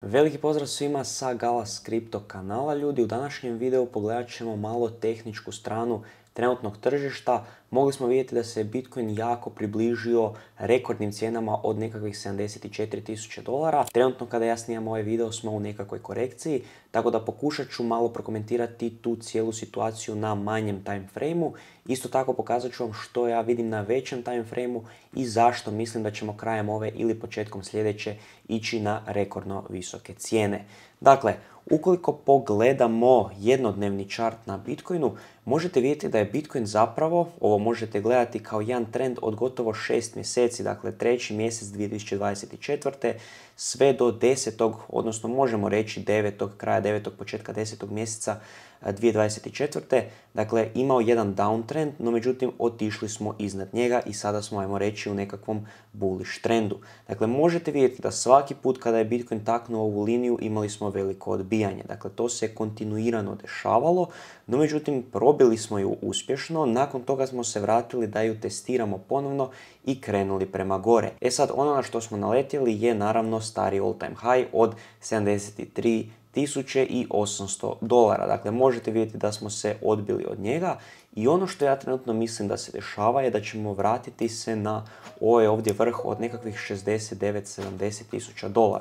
Veliki pozdrav svima sa Galas Crypto kanala. Ljudi, u današnjem videu pogledat ćemo malo tehničku stranu trenutnog tržišta. Mogli smo vidjeti da se Bitcoin jako približio rekordnim cijenama od nekakvih $74.000. Trenutno kada ja snimam ovaj video smo u nekakvoj korekciji, tako da pokušat ću malo prokomentirati tu cijelu situaciju na manjem time frameu. Isto tako pokazat ću vam što ja vidim na većem time frameu i zašto mislim da ćemo krajem ove ili početkom sljedeće ići na rekordno visoke cijene. Dakle, ukoliko pogledamo jednodnevni chart na Bitcoinu, možete vidjeti da je Bitcoin zapravo, ovo možete gledati kao jedan trend od gotovo 6 mjeseci, dakle treći mjesec 2024. sve do 10. odnosno možemo reći 9. kraja 9. početka 10. mjeseca 2024. Dakle, imao jedan downtrend, no međutim otišli smo iznad njega i sada smo, ajmo reći, u nekakvom bullish trendu. Dakle, možete vidjeti da svaki put kada je Bitcoin taknuo ovu liniju imali smo veliko odbijanje. Dakle, to se kontinuirano dešavalo, no međutim probili smo ju uspješno, nakon toga smo se vratili da ju testiramo ponovno i krenuli prema gore. E sad, ono na što smo naletjeli je naravno stari all time high od $73.800. Dakle, možete vidjeti da smo se odbili od njega i ono što ja trenutno mislim da se dešava je da ćemo vratiti se na ovaj ovdje vrh od nekakvih $69-70.000.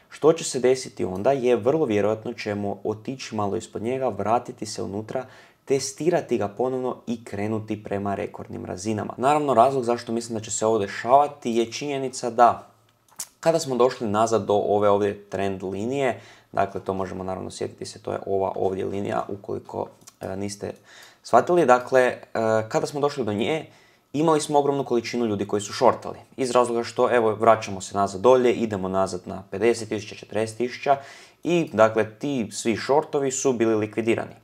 Što će se desiti onda je vrlo vjerojatno ćemo otići malo ispod njega, vratiti se unutra, testirati ga ponovno i krenuti prema rekordnim razinama. Naravno, razlog zašto mislim da će se ovo dešavati je činjenica da kada smo došli nazad do ove ovdje trend linije, dakle to možemo naravno sjetiti se, to je ova ovdje linija ukoliko niste shvatili, dakle kada smo došli do nje imali smo ogromnu količinu ljudi koji su shortali. Iz razloga što evo vraćamo se nazad dolje, idemo nazad na 50.000, 40.000 i dakle ti svi shortovi su bili likvidirani.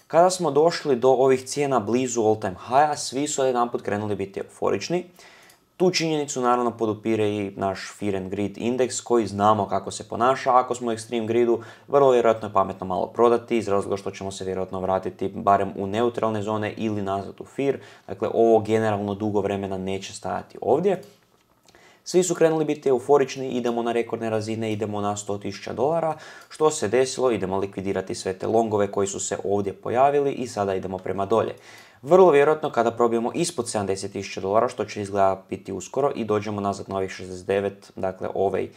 Kada smo došli do ovih cijena blizu all time high-a, svi su jedanput krenuli biti euforični. Tu činjenicu naravno podupire i naš Fear and Greed indeks koji znamo kako se ponaša. Ako smo u extreme greedu, vrlo vjerojatno je pametno malo prodati iz razloga što ćemo se vjerojatno vratiti barem u neutralne zone ili nazad u fear. Dakle, ovo generalno dugo vremena neće stajati ovdje. Svi su krenuli biti euforični, idemo na rekordne razine, idemo na $100.000. Što se desilo? Idemo likvidirati sve te longove koji su se ovdje pojavili i sada idemo prema dolje. Vrlo vjerojatno kada probijemo ispod $70.000, što će izgleda biti uskoro i dođemo nazad na ovih 69, dakle ovaj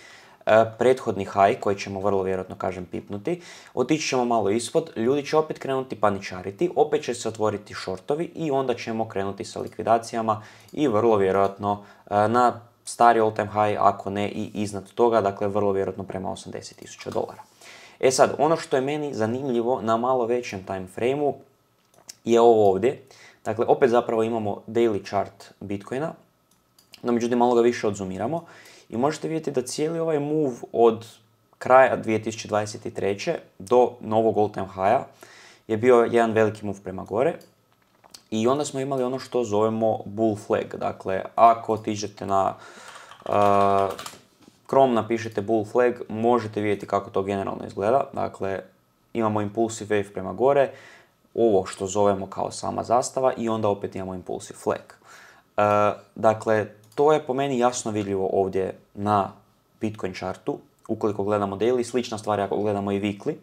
prethodni high koji ćemo vrlo vjerojatno, kažem, pipnuti. Otići ćemo malo ispod, ljudi će opet krenuti paničariti, opet će se otvoriti shortovi i onda ćemo krenuti sa likvidacijama i vrlo vjerojatno na stari all time high, ako ne i iznad toga, dakle vrlo vjerojatno prema $80.000. E sad, ono što je meni zanimljivo na malo većem time frameu je ovo ovdje. Dakle, opet zapravo imamo daily chart Bitcoina, no međutim malo ga više odzoomiramo i možete vidjeti da cijeli ovaj move od kraja 2023. do novog all time high-a je bio jedan veliki move prema gore i onda smo imali ono što zovemo bull flag. Dakle, ako otiđete na Chrome, napišete bull flag, možete vidjeti kako to generalno izgleda. Dakle, imamo impulsive wave prema gore, ovo što zovemo kao sama zastava i onda opet imamo impulsive flag. Dakle, to je po meni jasno vidljivo ovdje na Bitcoin chartu, ukoliko gledamo daily, slična stvar ako gledamo i weekly.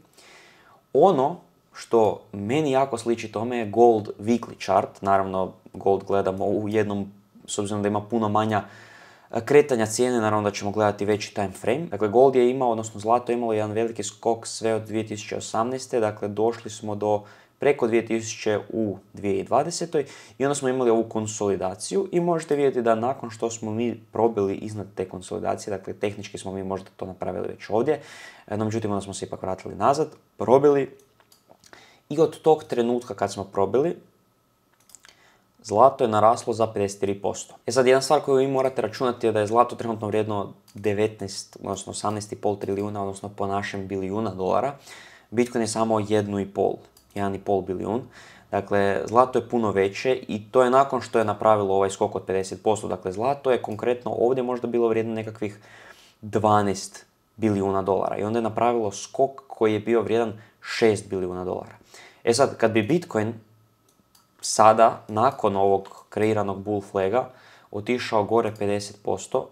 Ono što meni jako sliči tome je gold weekly chart, naravno gold gledamo u jednom, s obzirom da ima puno manja kretanja cijene, naravno da ćemo gledati veći time frame. Dakle, gold je imao, odnosno zlato je imalo jedan veliki skok sve od 2018. Dakle, došli smo do preko 2000 u 2020. i onda smo imali ovu konsolidaciju i možete vidjeti da nakon što smo mi probili iznad te konsolidacije, dakle tehnički smo mi možda to napravili već ovdje, no međutim onda smo se ipak vratili nazad, probili i od tog trenutka kad smo probili, zlato je naraslo za 53%. E sad, jedna stvar koju vi morate računati je da je zlato trenutno vrijedno 19, odnosno 18,5 trilijuna, odnosno po našem bilijuna dolara. Bitcoin je samo 1,5 bilijun. Dakle, zlato je puno veće i to je nakon što je napravilo ovaj skok od 50%. Dakle, zlato je konkretno ovdje možda bilo vrijedno nekakvih 12 bilijuna dolara i onda je napravilo skok koji je bio vrijedan 6 bilijuna dolara. E sad, kad bi Bitcoin sada, nakon ovog kreiranog bull flaga, otišao gore 50%,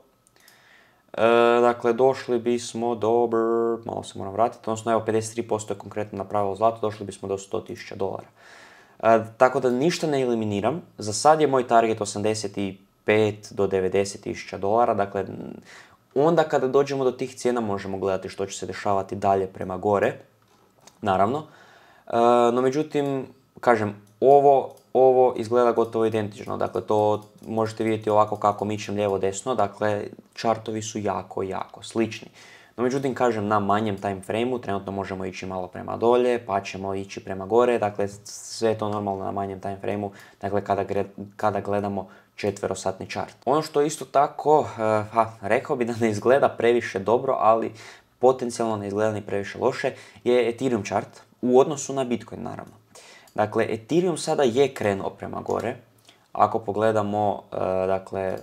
Dakle, došli bismo do, malo se moram vratiti, odnosno evo 53% je konkretno napravilo zlato, došli bismo do $100,000. Tako da ništa ne eliminiram, za sad je moj target 85 do $90,000, dakle, onda kada dođemo do tih cijena možemo gledati što će se dešavati dalje prema gore, naravno. No međutim, kažem, ovo izgleda gotovo identično, dakle to možete vidjeti ovako kako mičem lijevo-desno, dakle čartovi su jako slični. No međutim, kažem, na manjem time frame-u trenutno možemo ići malo prema dolje, pa ćemo ići prema gore, dakle sve je to normalno na manjem time frame-u, dakle kada gledamo četverosatni chart. Ono što isto tako, rekao bi da ne izgleda previše dobro, ali potencijalno ne izgleda ni previše loše, je Ethereum chart u odnosu na Bitcoin, naravno. Dakle, Ethereum sada je krenuo prema gore. Ako pogledamo, dakle,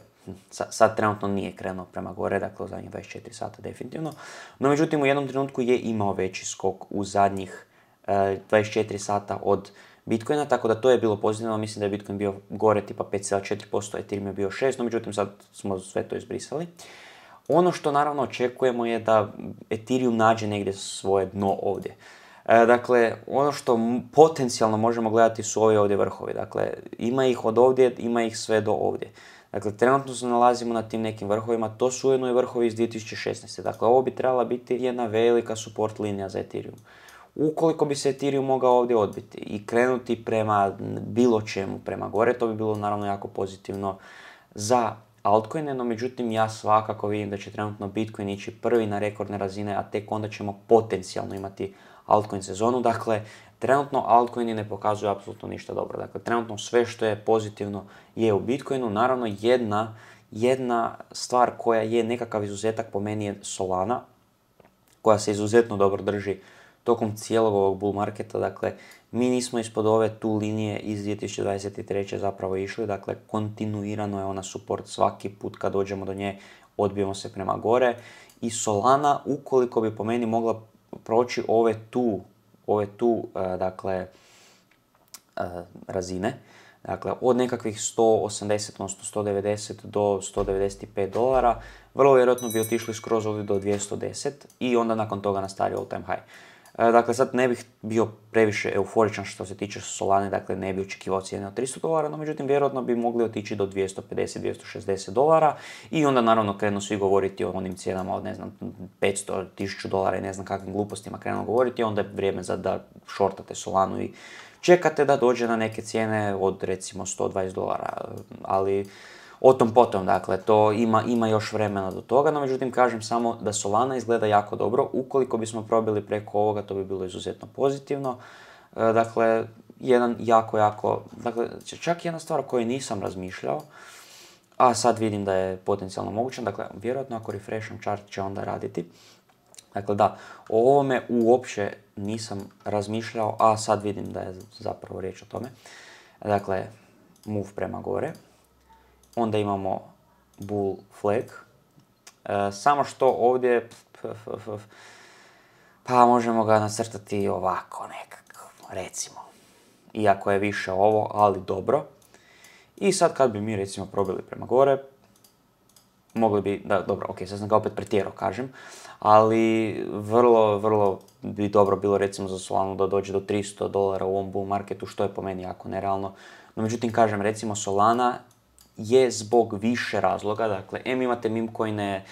sad trenutno nije krenuo prema gore, dakle u zadnjih 24 sata definitivno. No međutim, u jednom trenutku je imao veći skok u zadnjih 24 sata od Bitcoina, tako da to je bilo pozitivno. Mislim da je Bitcoin bio gore tipa 5,4%, Ethereum je bio 6%, no međutim sad smo sve to izbrisali. Ono što naravno očekujemo je da Ethereum nađe negdje svoje dno ovdje. Dakle, ono što potencijalno možemo gledati su ovi ovdje vrhovi. Dakle, ima ih od ovdje, ima ih sve do ovdje. Dakle, trenutno se nalazimo na tim nekim vrhovima, to su ujedno i vrhovi iz 2016. Dakle, ovo bi trebala biti jedna velika support linija za Ethereum. Ukoliko bi se Ethereum mogao ovdje odbiti i krenuti prema bilo čemu prema gore, to bi bilo naravno jako pozitivno za altcoine, no međutim ja svakako vidim da će trenutno Bitcoin ići prvi na rekordne razine, a tek onda ćemo potencijalno imati altcoin sezonu. Dakle, trenutno altcoini ne pokazuju apsolutno ništa dobro. Dakle, trenutno sve što je pozitivno je u Bitcoinu. Naravno, jedna stvar koja je nekakav izuzetak po meni je Solana, koja se izuzetno dobro drži tokom cijelog ovog bull marketa. Dakle, mi nismo ispod ove tu linije iz 2023. zapravo išli. Dakle, kontinuirano je ona support svaki put kad dođemo do nje, odbijemo se prema gore. I Solana, ukoliko bi po meni mogla proći ove tu dakle, razine, dakle od nekakvih 180, odnosno 190 do $195, vrlo vjerojatno bi otišli skroz ovdje do 210 i onda nakon toga nastavio all time high. Dakle, sad ne bih bio previše euforičan što se tiče Solane, dakle ne bi očekivao cijene od $300, no međutim vjerojatno bi mogli otići do $250-260 i onda naravno krenu svi govoriti o onim cijenama od, ne znam, $500, $1000 i ne znam kakvim glupostima krenu govoriti, onda je vrijeme za da shortate Solanu i čekate da dođe na neke cijene od recimo $120, ali o tom potom, dakle, to ima još vremena do toga, no međutim kažem samo da Solana izgleda jako dobro. Ukoliko bismo probili preko ovoga, to bi bilo izuzetno pozitivno. Dakle, dakle, čak jedna stvar o kojoj nisam razmišljao, a sad vidim da je potencijalno moguće, dakle, vjerojatno ako refresham chart će onda raditi. Dakle, da, o ovome uopće nisam razmišljao, a sad vidim da je zapravo riječ o tome. Dakle, move prema gore. Onda imamo bull flag. Samo što ovdje, pa možemo ga nacrtati ovako nekako, recimo. Iako je više ovo, ali dobro. I sad kad bi mi recimo probili prema gore, mogli bi, da, dobro, ok, sad sam ga opet pretjerao, kažem, ali vrlo bi dobro bilo recimo za Solanu da dođe do $300 u ovom bull marketu, što je po meni jako nerealno. No međutim, kažem, recimo Solana je zbog više razloga, dakle, imate meme coine,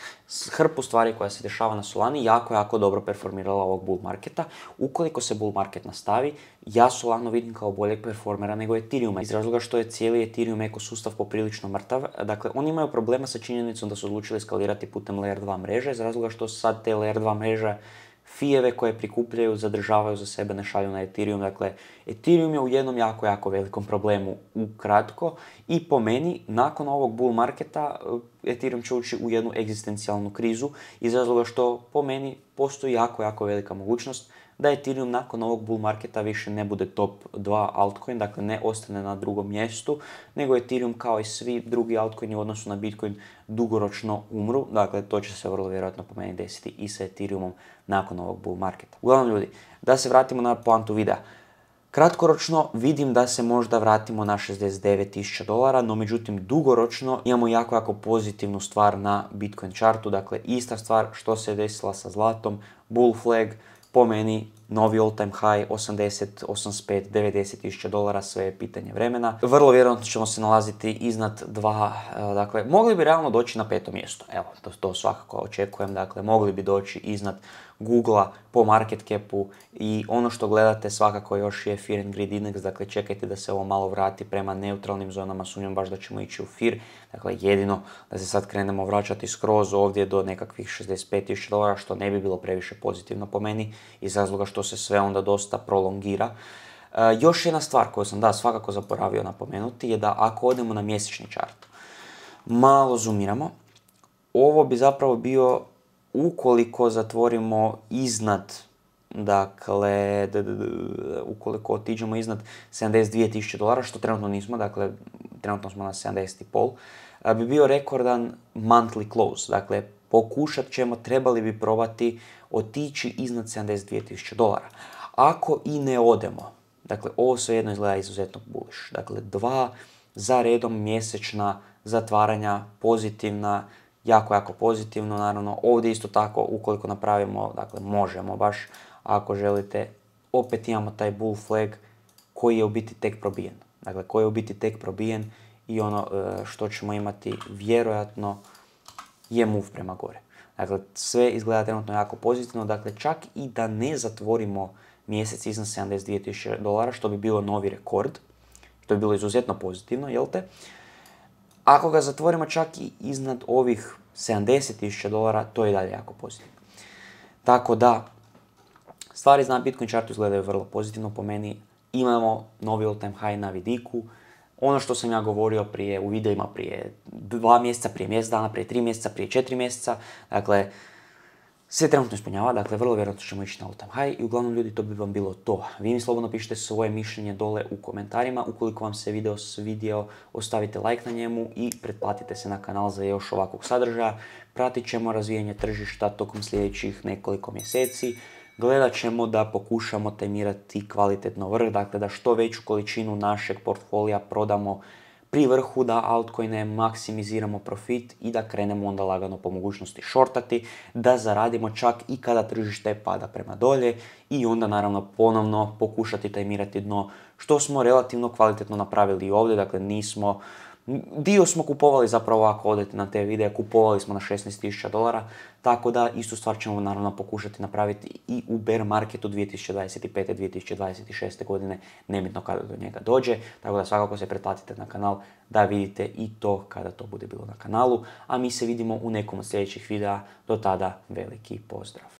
hrpu stvari koja se dešava na Solani, jako dobro performirala ovog bull marketa. Ukoliko se bull market nastavi, ja Solanu vidim kao boljeg performera nego Ethereuma, iz razloga što je cijeli Ethereum ekosustav poprilično mrtav. Dakle, oni imaju problema sa činjenicom da su odlučili skalirati putem Layer 2 mreže, iz razloga što sad te Layer 2 mreže fijeve koje prikupljaju, zadržavaju za sebe, ne šalju na Ethereum. Dakle, Ethereum je u jednom jako velikom problemu ukratko i po meni, nakon ovog bull marketa, Ethereum će ući u jednu egzistencijalnu krizu iz razloga što po meni postoji jako velika mogućnost da Ethereum nakon ovog bull marketa više ne bude top 2 altcoin, dakle ne ostane na drugom mjestu, nego Ethereum kao i svi drugi altcoini u odnosu na Bitcoin dugoročno umru. Dakle, to će se vrlo vjerojatno po meni desiti i sa Ethereumom nakon ovog bull marketa. Uglavnom ljudi, da se vratimo na poantu videa. Kratkoročno vidim da se možda vratimo na $69,000, no međutim dugoročno imamo jako pozitivnu stvar na Bitcoin chartu, dakle ista stvar što se desila sa zlatom, bull flag, po meni novi all time high, 80, 85, $90,000, sve je pitanje vremena. Vrlo vjerojatno ćemo se nalaziti iznad dakle mogli bi realno doći na 5. mjesto, evo to svakako očekujem, dakle mogli bi doći iznad Googlea po market capu i ono što gledate svakako još je Fear and Greed Index, dakle čekajte da se ovo malo vrati prema neutralnim zonama, sumnjam baš da ćemo ići u fear, dakle jedino da se sad krenemo vraćati skroz ovdje do nekakvih $65,000, što ne bi bilo previše pozitivno po meni, iz razloga što se sve onda dosta prolongira. Još jedna stvar koju sam svakako zaboravio napomenuti je da ako odemo na mjesečni chart, malo zoomiramo, ovo bi zapravo bio ukoliko zatvorimo iznad, dakle, ukoliko otiđemo iznad $72,000, što trenutno nismo, dakle, trenutno smo na 70,5, bi bio rekordan monthly close, dakle, pokušat ćemo, trebali bi probati otići iznad $72,000. Ako i ne odemo, dakle, ovo svejedno izgleda izuzetno bullish, dakle, 2 za redom mjesečna zatvaranja, pozitivna, jako pozitivno, naravno, ovdje isto tako, ukoliko napravimo, dakle, možemo baš, ako želite, opet imamo taj bull flag koji je u biti tek probijen. Dakle, koji je u biti tek probijen i ono što ćemo imati vjerojatno je move prema gore. Dakle, sve izgleda trenutno jako pozitivno, dakle, čak i da ne zatvorimo mjesec iznad $72,000, što bi bilo novi rekord, to bi bilo izuzetno pozitivno, jel te? Ako ga zatvorimo čak i iznad ovih $70,000, to je i dalje jako pozitivno. Tako da, stvari na Bitcoin chartu izgledaju vrlo pozitivno po meni. Imamo novi all time high na vidiku. Ono što sam ja govorio u videima prije 2 mjeseca, prije mjesec dana, prije 3 mjeseca, prije 4 mjeseca, dakle, sve trenutno ispunjava, dakle, vrlo vjerojatno ćemo ići na all time high i uglavnom ljudi, to bi vam bilo to. Vi mi slobodno pišite svoje mišljenje dole u komentarima. Ukoliko vam se video svidio, ostavite like na njemu i pretplatite se na kanal za još ovakvog sadržaja. Pratit ćemo razvijanje tržišta tokom sljedećih nekoliko mjeseci. Gledat ćemo da pokušamo tajmirati kvalitetno vrh, dakle da što veću količinu našeg portfolija prodamo pri vrhu, da altcoine maksimiziramo profit i da krenemo onda lagano po mogućnosti shortati, da zaradimo čak i kada tržište pada prema dolje i onda naravno ponovno pokušati tajmirati dno, što smo relativno kvalitetno napravili i ovdje, dakle dio smo kupovali zapravo ako odete na te videe, kupovali smo na $16,000, tako da istu stvar ćemo naravno pokušati napraviti i u bear marketu 2025. 2026. godine, nebitno kada do njega dođe, tako da svakako se pretplatite na kanal da vidite i to kada to bude bilo na kanalu, a mi se vidimo u nekom od sljedećih videa, do tada veliki pozdrav.